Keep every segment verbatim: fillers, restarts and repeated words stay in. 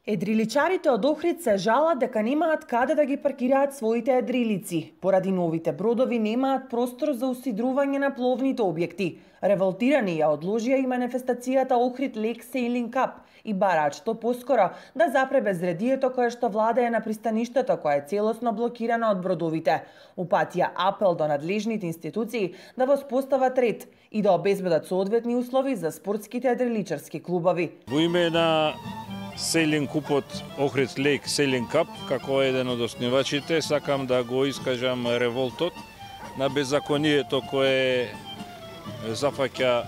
Едриличарите од Охрид се жалат дека немаат каде да ги паркираат своите едрилици. Поради новите бродови немаат простор за усидрување на пловните објекти. Револтирани ја одложија и манифестацијата Охрид Лейк Сейлинг Кап и бараат што поскоро да запре безредието кое што владее на пристаништето, кое е целосно блокирано од бродовите. Упатија апел до надлежните институции да воспостават ред и да обезбедат соодветни услови за спортските едриличарски клубови. Во име на Сейлинг купот Охрид Лейк Сейлинг Кап, како еден од основачите, сакам да го искажам револтот на беззаконието кое зафаќа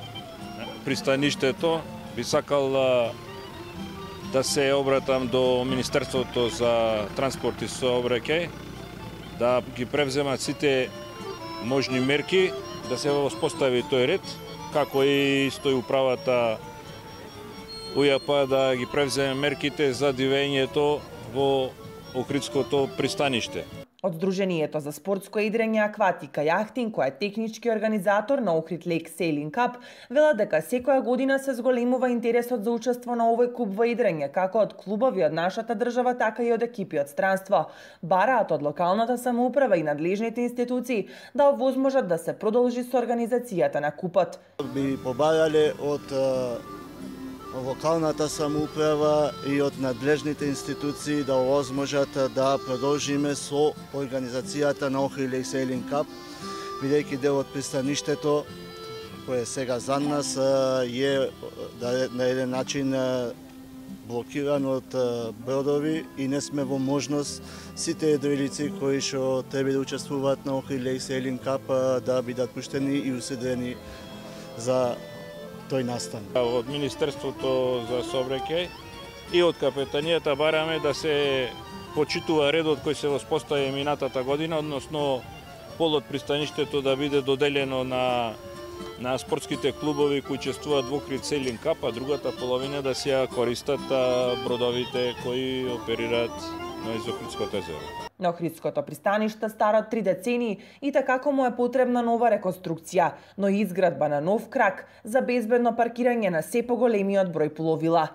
пристаништето. Би сакал да се обратам до Министерството за транспорт и сообраќај, да ги превземат сите можни мерки, да се воспостави тој ред, како и стои управата УЈП да ги превземе мерките за дивењето во Охридското пристаниште. Од Сдруженијето за спортско идрење акватика јахтинг, кој е технички организатор на Охрид Лейк Сейлинг Кап, велат дека секоја година се зголемува интересот за учество на овој куп во идрење, како од клубови од нашата држава, така и од екипи од странство. Бараат од локалната самоуправа и надлежните институции да овозможат да се продолжи со организацијата на купот. Би побарале од локалната самоуправа и од надлежните институции да овозможат да продолжиме со организацијата на Охрид Лейк Сейлинг Кап, бидејќи дел од пристаништето, кое сега за нас е на еден начин блокиран од бродови и не сме во можност сите едрилици кои што треба да учествуваат на Охрид Лейк Сейлинг Кап да бидат пуштени и уседрени за тој настан. Од Министерството за сообраќај и од капетанијата бараме да се почитува редот кој се воспостави минатата година, односно полот пристаништето да биде доделено на на спортските клубови кои учествуваат во Охрид Сейлинг Кап, а другата половина да се ја користат бродовите кои оперираат на Охридското езеро. На Охридското пристаниште старо три децении и така му е потребна нова реконструкција, но и изградба на нов крак за безбедно паркирање на се поголемиот број пловила.